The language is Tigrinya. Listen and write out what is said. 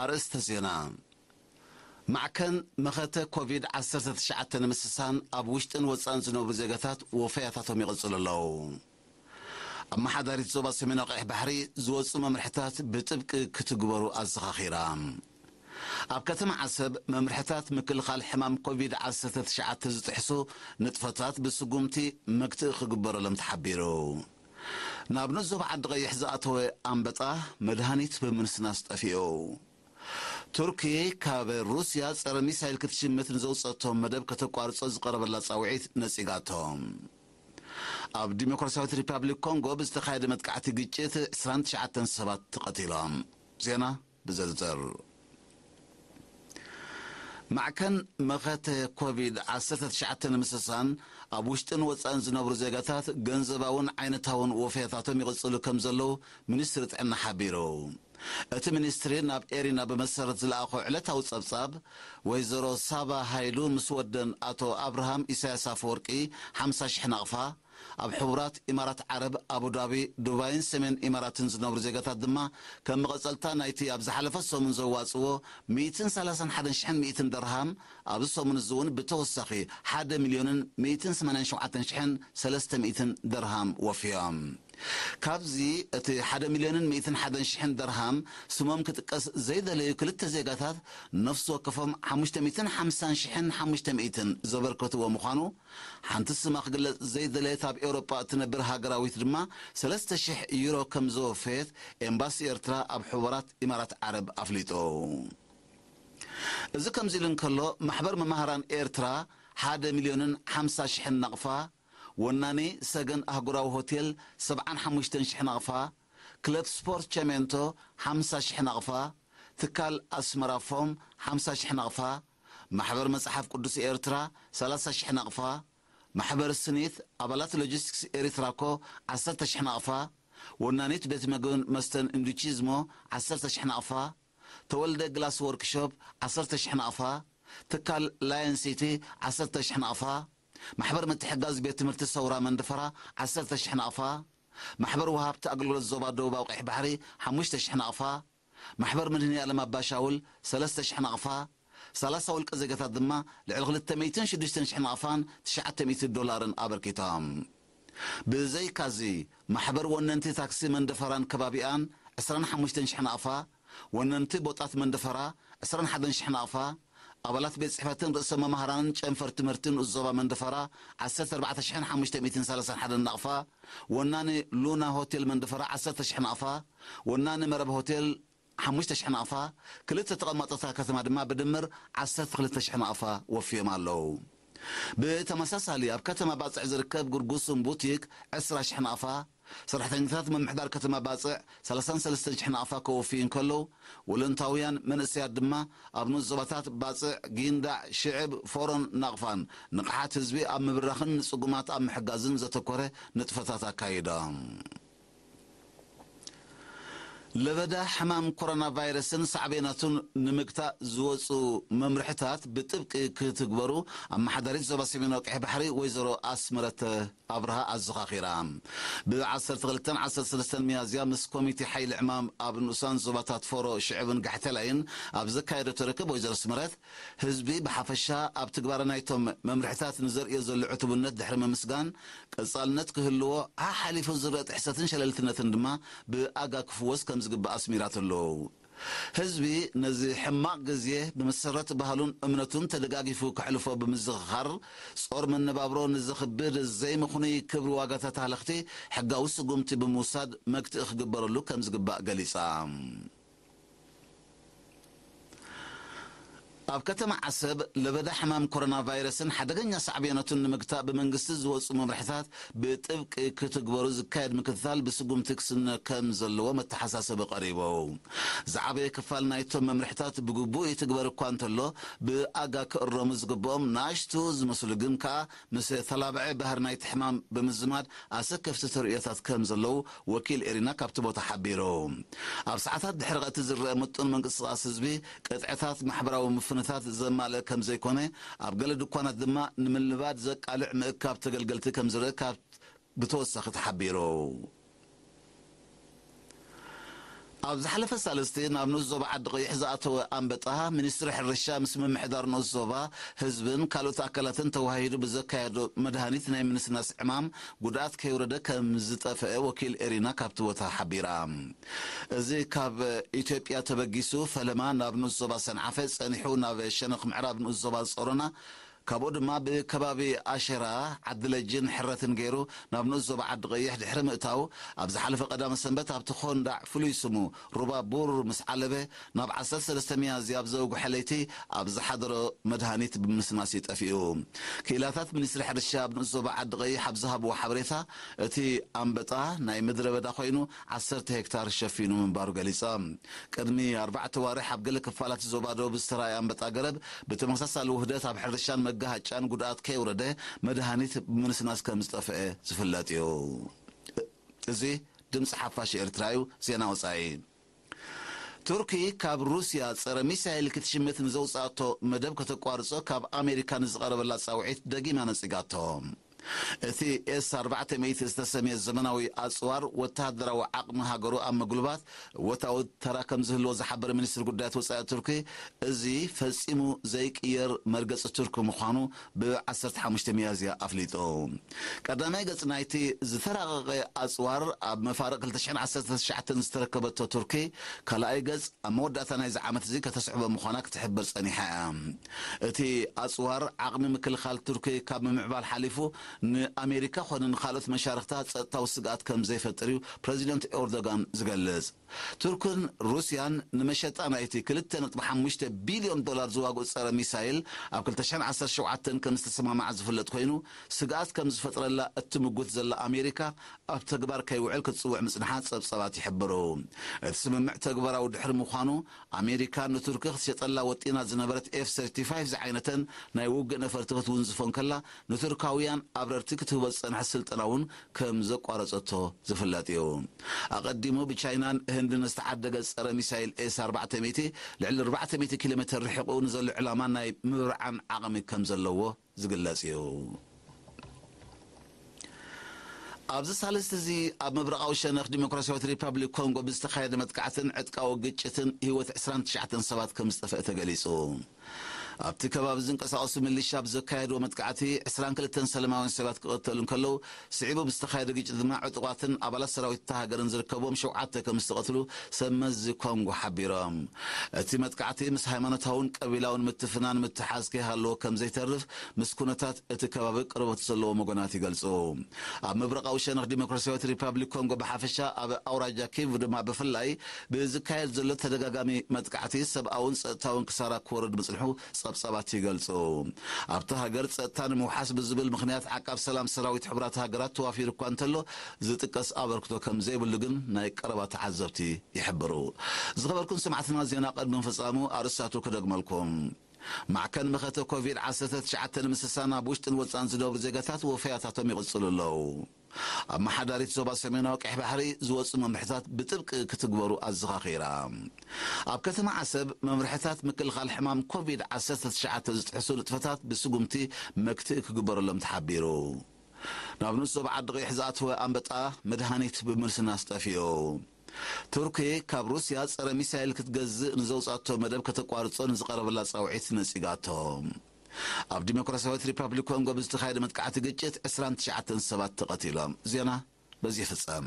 ኣርእስተ ዜና። ማዕከን መኸተ ኮቪድ ዓሰርተ ትሽዓተ ንምስሳን ኣብ ውሽጥን ወጻእን ዝነብሩ ዜጋታት ወፈያታቶም ይቕጽሉ ኣለዉ። ኣመሓዳሪት ዞባ ሰሜናዊ ቀይሕ ባሕሪ ዝወጹ መምርሕታት ብጥብቂ ክትግበሩ ኣዘኻኺራ። ኣብ ከተማ ዓሰብ መምርሕታት ምክልኻል ሕማም ኮቪድ ዓሰርተ ትሽዓተ ዝጥሕሱ ንጥፈታት ብስጉምቲ መግትኢ ክግበረሎም ተሓቢሩ። ናብ ንዞባ ዓዲ ቀይሕ ዝኣተወ ኣንበጣ መድሃኒት ብምንስናስ ጠፊኡ። ቱርኪ ካብ ሩስያ ጸረ ሚሳይል ክትሽምት ንዘውጸቶም መደብ ከተቋርጾ ዝቐረበላ ጻውዒት ነጺጋቶ። ኣብ ዲሞክራሲያዊት ሪፓብሊክ ኮንጎ ብዝተኻየደ መጥቃዕቲ ግጭት ዕስራን ትሽዓተን ሰባት ተቐቲሎም። ዜና ብዝርዝር። ማዕከን መኸተ ኮቪድ ዓሰርተ ትሽዓተ ንምስሳን ኣብ ውሽጥን ወጻእን ዝነብሩ ዜጋታት ገንዘባውን ዓይነታውን ወፈያታቶም ይቕጽሉ ከም ዘለዉ ሚኒስትሪ ጥዕና ሓቢሩ። እቲ ሚኒስትሪ ናብ ኤሪና ብመሰረት ዝለኣኾ ዕለታዊ ጸብጻብ፣ ወይዘሮ ሳባ ሃይሉ ምስ ወደን ኣቶ ኣብርሃም ኢሳያስ ኣፈወርቂ ሓምሳ ሽሕ ናቕፋ፣ ኣብ ሕቡራት ኢማራት ዓረብ ኣቡዳቢ፣ ዱባይን ሰሜን ኢማራትን ዝነብሩ ዜጋታት ድማ ከም መቐጸልታ ናይቲ ኣብ ዝሓለፈ ሰሙን ዘዋጽዎ ሚእትን ሰላሳን ሓደን ሽሕን ሚእትን ደርሃም፣ ኣብዚ ሰሙን እዚ እውን ብተወሳኺ ሓደ ሚልዮንን ሚእትን ሰማንያን ሸውዓተን ሽሕን ሰለስተ ሚእትን ደርሃም ወፍዮም። ካብዚ እቲ ሓደ ሚልዮንን ሚእትን ሓደን ሽሕን ደርሃም ስሞም ክጥቀስ ዘይደለዩ ክልተ ዜጋታት ነፍሲ ወከፎም ሓሙሽተ ሚእትን ሓምሳን ሽሕን ሓሙሽተ ሚእትን ዘበርከትዎ ምዃኑ፣ ሓንቲ ስማ ክግለጽ ዘይደለየት ኣብ ኤውሮጳ እትነብር ሃገራዊት ድማ ሰለስተ ሽሕ ዩሮ ከም ዘወፈየት ኤምባሲ ኤርትራ ኣብ ሕቡራት ኢማራት ዓረብ ኣፍሊጡ። እዚ ከምዚ ኢሉ እንከሎ፣ ማሕበር መማህራን ኤርትራ ሓደ ሚልዮንን ሓምሳ ሽሕን ናቕፋ፣ ወናኒ ሰገን ኣህጉራዊ ሆቴል ሰብዓን ሓሙሽተን ሽሕ ናቕፋ፣ ክለብ ስፖርት ቸሜንቶ ሓምሳ ሽሕ ናቕፋ፣ ትካል ኣስመራ ፎም ሓምሳ ሽሕ ናቕፋ፣ ማሕበር መጽሓፍ ቅዱስ ኤርትራ ሰላሳ ሽሕ ናቕፋ፣ ማሕበር ስኒት ኣባላት ሎጂስቲክስ ኤሪትራኮ ዓሰርተ ሽሕ ናቕፋ፣ ወናኒት ቤት መግብን መስተን ኢንዱቺዝሞ ዓሰርተ ሽሕ ናቕፋ፣ ተወልደ ግላስ ወርክሾፕ ዓሰርተ ሽሕ ናቕፋ፣ ትካል ላየን ሲቲ ዓሰርተ ሽሕ ናቕፋ፣ ማሕበር ምትሕጋዝ ቤት ትምህርቲ ሰውራ መንደፈራ ዓሰርተ ሽሕ ናቕፋ፣ ማሕበር ወሃብቲ ኣገልግሎት ዞባ ደቡባዊ ቀይሕ ባሕሪ ሓሙሽተ ሽሕ ናቕፋ፣ ማሕበር መድህኒ ዓለም ኣባሻውል ሰለስተ ሽሕ ናቕፋ፣ ሰላሳ ውልቀ ዜጋታት ድማ ልዕሊ ክልተ ሚእትን ሽዱሽተን ሽሕ ናቕፋን ትሽዓተ ሚእቲ ዶላርን ኣበርኪቶም። ብዘይካዚ፣ ማሕበር ወነንቲ ታክሲ መንደፈራን ከባቢኣን ዕስራን ሓሙሽተን ሽሕ ናቕፋ፣ ወነንቲ ቦጣት መንደፈራ ዕስራን ሓደን ሽሕ ናቕፋ፣ ኣባላት ቤት ጽሕፈትን ርእሰ መማህራንን ጨንፈር ትምህርትን ንኡስ ዞባ መንደፈራ ዓሰርተ ኣርባዕተ ሽሕን ሓሙሽተ ሚእትን ሰላሳን ሓደን ናቕፋ፣ ወናኒ ሉና ሆቴል መንደፈራ ዓሰርተ ሽሕ ናቕፋ፣ ወናኒ መረብ ሆቴል ሓሙሽተ ሽሕ ናቕፋ፣ ክልተ ተቐማጦታ ከተማ ድማ ብድምር ዓሰርተ ክልተ ሽሕ ናቕፋ ወፍዮም ኣለዉ። ብተመሳሳሊ ኣብ ከተማ ባጽዕ ዝርከብ ጉርጉስም ቡቲክ ዕስራ ሽሕ ናቕፋ፣ ሰራሕተኛታት ምምሕዳር ከተማ ባጽዕ ሰላሳን ሰለስተን ሽሕ ናቕፋ ከወፍዩ እንከለዉ፣ ወለንታውያን መንእሰያት ድማ ኣብ ንኡስ ዞባታት ባጽዕ፣ ጊንዳዕ፣ ሽዕብ፣ ፎሮን ናቕፋን ንቕሓት ህዝቢ ኣብ ምብራኽን ንጽጉማት ኣብ ምሕጋዝን ዘተኮረ ንጥፈታት ኣካይዶም። ለበዳ ሕማም ኮሮና ቫይረስን ሳዕቤናቱን ንምግታእ ዝወፁ መምርሕታት ብጥብቂ ክትግበሩ ኣመሓዳሪት ዞባ ሰሜናዊ ቀይሕ ባሕሪ ወይዘሮ ኣስመረተ ኣብርሃ ኣዘኻኺራ። ብ ዓሰርተ ክልተን ዓሰርተ ሰለስተን ሚያዝያ ምስ ኮሚቴ ሓይሊ ዕማም ኣብ ንኡሳን ዞባታት ፎሮ፣ ሽዕብን ጋሕቴላይን ኣብ ዘካየደቶ ርክብ ወይዘሮ ኣስመረት ህዝቢ ብሓፈሻ ኣብ ትግባረ ናይቶም መምርሕታት ንዘርእዮ ዘሎ ዕቱብነት ድሕሪ ምምስጋን፣ ቀጻልነት ክህልዎ፣ ሓሓሊፉ ዝረአ ጥሕሰትን ሸለልትነትን ድማ ብኣጋ ክፍወስ ከም ዝግባእ ኣስሚራትሉ። ህዝቢ ነዚ ሕማቕ ግዜ ብመሰረት ባህሉን እምነቱን ተደጋጊፉ ከሕልፎ ብምዝኽኻር፣ ጾር መነባብሮ ንዘኽብድ ዘይምኽኑይ ክብሪ ዋጋታት ሃለኽቲ ሕጋዊ ስጉምቲ ብምውሳድ መግትኢ ክግበረሉ ከም ዝግባእ ገሊጻ። ኣብ ከተማ ዓሰብ ለበዳ ሕማም ኮሮና ቫይረስን ሓደገኛ ሳዕቤናቱን ንምግታእ ብመንግስቲ ዝወፁ መምርሕታት ብጥብቂ ክትግበሩ ዝካየድ ምክትታል ብስጉምቲ ክስነ ከም ዘለዎ መተሓሳሰቢ ቀሪቡ። ዝዓበየ ክፋል ናይቶም መምርሕታት ብግቡእ ይትግበር እኳ እንተሎ፣ ብኣጋ ክእረሙ ዝግብኦም ንኣሽቱ ዝመስሉ ግን ከኣ ምስ ተላባዒ ባህሪ ናይቲ ሕማም ብምዝማድ ኣሰከፍቲ ተርእዮታት ከም ዘለዉ ወኪል ኤሪና ካብቲ ቦታ ሓቢሩ። ኣብ ሰዓታት ድሕሪ ቀትሪ ዝረአ ምጡን ምንቅስቓስ ህዝቢ፣ ቅጥዕታት ማሕበራዊ ምፍንታት ዘማልአ ከም ዘይኮነ፣ ኣብ ገለ ድኳናት ድማ ንምልባድ ዘቃልዕ ምእካብ ተገልገልቲ ከም ዝረአ ካብ ብተወሳኺ ተሓቢሩ። ኣብ ዝሓለፈ ሳልስቲ ናብ ንኡስ ዞባ ዓዲ ቀይሕ ዝኣተወ ኣንበጣ፣ ሚኒስትሪ ሕርሻ ምስ ምምሕዳር ንኡስ ዞባ፣ ህዝብን ካልኦት ኣካላትን ተዋሂዱ ብዘካየዶ መድሃኒት ናይ ምንስናስ ዕማም ጉድኣት ከይወረደ ከም ዝጠፍአ ወኪል ኤሪና ካብቲ ቦታ ሓቢራ። እዚ ካብ ኢትዮጵያ ተበጊሱ ፈለማ ናብ ንኡስ ዞባ ሰንዓፈ ጸኒሑ ናብ ሸነኽ ምዕራብ ንኡስ ዞባ ጾሮና፣ ካብኡ ድማ ብከባቢ ኣሸራ፣ ዓዲ ለጅን ሕረትን ገይሩ ናብ ንኡስ ዞባ ዓዲ ቀይሕ ድሕሪ ምእታው፣ ኣብ ዝሓለፈ ቀዳመ ሰንበት ኣብቲ ኮንዳዕ ፍሉይ ስሙ ሩባ ቡር ምስ ዓለበ፣ ናብ ዓሰርተ ሰለስተ ሚያዝያ ኣብ ዘውግሐ ለይቲ ኣብ ዝሓደሮ መድሃኒት ብምስናስ እዩ ጠፊኡ። ክኢላታት ሚኒስትሪ ሕርሻ ኣብ ንኡስ ዞባ ዓዲ ቀይሕ ኣብ ዝሃብዎ ሓበሬታ፣ እቲ ኣንበጣ ናይ ምድረ በዳ ኮይኑ ዓሰርተ ሄክታር ሸፊኑ ምንባሩ ገሊጾም። ቅድሚ ኣርባዕተ ዋርሕ ኣብ ገለ ክፋላት ዞባ ደቡብ ዝተራእየ ኣንበጣ ገረብ ብተመሳሳሊ ውህደት ኣብ ሕርሻን መጋሃጫን ጉድኣት ከየውረደ መድሃኒት ብምንስናስ ከም ዝጠፍአ ዝፍለጥ እዩ። እዚ ድምፂ ሓፋሽ ኤርትራ እዩ። ዜና ወፃኢ። ቱርኪ ካብ ሩስያ ጸረ ሚሳይል ክትሽምት ንዘውጻእቶ መደብ ከተቋርጾ ካብ ኣሜሪካ ንዝቐረበላ ጻውዒት ደጊማ ነጺጋቶ። እቲ ኤስ ኣርባዕተ ሚእቲ ዝተሰምየ ዘመናዊ ኣጽዋር ወተሃደራዊ ዓቕሚ ሃገሩ ኣብ ምግሉባት እወታዊ ተራ ከም ዝህልዎ ዝሓበረ ሚኒስትሪ ጉዳያት ወጻኢ ቱርኪ፣ እዚ ፈጺሙ ዘይቅየር መርገጺ ቱርኪ ምዃኑ ብ ዓሰርተ ሓሙሽተ ሚያዝያ ኣፍሊጡ። ቀዳማይ ገጽ ናይቲ ዝተራቐቐ ኣጽዋር ኣብ መፋርቕ ክልተ ሽሕን ዓሰርተ ትሽዓተን ዝተረከበቶ ቱርኪ፣ ካልኣይ ገጽ ኣብ መወዳእታ ናይዚ ዓመት እዚ ከተስዕቦ ምዃና ክትሕብር ጸኒሓ እያ። እቲ ኣጽዋር ዓቕሚ ምክልኻል ቱርኪ ካብ ምምዕባል ሓሊፉ ንኣሜሪካ ኾነ ንኻልኦት መሻርኽታ ጸጥታዊ ስግኣት ከም ዘይፈጥር እዩ ፕረዚደንት ኤርዶጋን ዝገልጽ። ቱርክን ሩስያን ንመሸጣ ናይቲ ክልተ ነጥቢ ሓሙሽተ ቢልዮን ዶላር ዝዋግኡ ጸረ ሚሳይል ኣብ ክልተ ሽሕን ዓሰርተ ሸውዓተን ከም ዝተሰማማዓ ዝፍለጥ ኮይኑ፣ ስግኣት ከም ዝፈጥረላ እትምጉት ዘላ ኣሜሪካ ኣብ ተግባር ከይውዕል ክትጽውዕ ምጽንሓ ጸብጻባት ይሕብሩ። እቲ ስምምዕ ተግባራዊ ድሕሪ ምዃኑ፣ ኣሜሪካ ንቱርኪ ክትሸጠላ ወጢና ዝነበረት ኤፍ ሰርቲ ፋይቭ ዝዓይነተን ናይ ውግእ ነፈርቲ ክትውንዝፎ እንከላ፣ ንቱርካውያን ኣብረርቲ ክትህቦ ዝጸንሐት ስልጠና እውን ከም ዘቋረጸቶ ዝፍለጥ እዩ። ኣቐዲሙ ብቻይናን ህንድን ዝተዓደገ ጸረ ሚሳይል ኤስ ኣርባዕተ ሚእቲ ልዕሊ ኣርባዕተ ሚእቲ ኪሎ ሜትር ርሒቑ ንዘሎ ዕላማ ናይ ምብርዓን ዓቕሚ ከም ዘለዎ ዝግለጽ እዩ። ኣብዚ ሳልስቲ እዚ ኣብ ምብራቓዊ ሸነኽ ዲሞክራሲያዊት ሪፓብሊክ ኮንጎ ብዝተኻየደ መጥቃዕትን ዕጥቃዊ ግጭትን ህይወት ዕስራን ትሽዓተን ሰባት ከም ዝጠፍአ ተገሊጹ። ኣብቲ ከባቢ ዝንቀሳቐሱ ሚሊሻ ብዘካየድዎ መጥቃዕቲ ዕስራን ክልተን ሰላማውያን ሰባት ክቐተሉ እንከለዉ፣ ስዒቡ ብዝተኻየደ ግጭት ድማ ዕጡቓትን ኣባላት ሰራዊት እታ ሃገርን ዝርከብዎም ሸውዓተ ከም ዝተቐትሉ ሰብ መዚ ኮንጎ ሓቢሮም። እቲ መጥቃዕቲ ምስ ሃይማኖታውን ቀቢላውን ምትፍናን ምትሓዝ ከይሃለዎ ከም ዘይተርፍ ምስ ኩነታት እቲ ከባቢ ቅርበት ዘለዎም ወገናት ይገልጹ። ኣብ ምብራቓዊ ሸነኽ ዲሞክራሲያዊት ሪፓብሊክ ኮንጎ ብሓፈሻ፣ ኣብ ኣውራጃ ኪቩ ድማ ብፍላይ ብዝካየድ ዘሎ ተደጋጋሚ መጥቃዕቲ ሰብኣውን ጸጥታውን ክሳራ ክወርድ ምጽንሑ ጸብጻባት ይገልጹ። ኣብታ ሃገር ጸጥታ ንምውሓስ ብዝብል ምኽንያት ዓቃብ ሰላም ሰራዊት ሕቡራት ሃገራት ተዋፊሩ እኳ እንተሎ፣ ዝጥቀስ ኣበርክቶ ከም ዘይብሉ ግን ናይ ቀረባ ተዓዘብቲ ይሕብሩ። ዝኸበርኩም ሰማዕትና፣ ዜና ቅድሚ ምፍጻሙ ኣርእስታቱ ክደግመልኩም። ማዕከን መኸተ ኮቪድ ዓሰርተ ትሽዓተ ንምስሳን ኣብ ውሽጥን ወጻን ዝነብሩ ዜጋታት ወፈያታቶም ይቕጽሉ ኣለዉ። ኣመሓዳሪት ዞባ ሰሜናዊ ቀይሕ ባሕሪ ዝወጹ መምርሕታት ብጥብቂ ክትግበሩ ኣዘኻኺራ። ኣብ ከተማ ዓሰብ መምርሕታት ምክልኻል ሕማም ኮቪድ ዓሰርተ ትሽዓተ ዝጥሕሱ ንጥፈታት ብስጉምቲ መክትኢ ክግበረሎም ተሓቢሩ። ናብ ንኡስ ዞባ ዓዲ ቀይሕ ዝኣተወ ኣንበጣ መድሃኒት ብምልስናስ ጠፊኡ። ቱርኪ ካብ ሩስያ ጸረ ሚሳይል ክትገዝእ ንዘውጻቶ መደብ ከተቋርጾ ንዝቐረበላ ጻውዒት ነጺጋቶ። ኣብ ዲሞክራሲያዊት ሪፓብሊክ ኮንጎ ብዝተኻየደ መጥቃዕቲ ግጭት ዕስራን ትሽዓተን ሰባት ተቐቲሎም። ዜና በዚ ይፍጸም።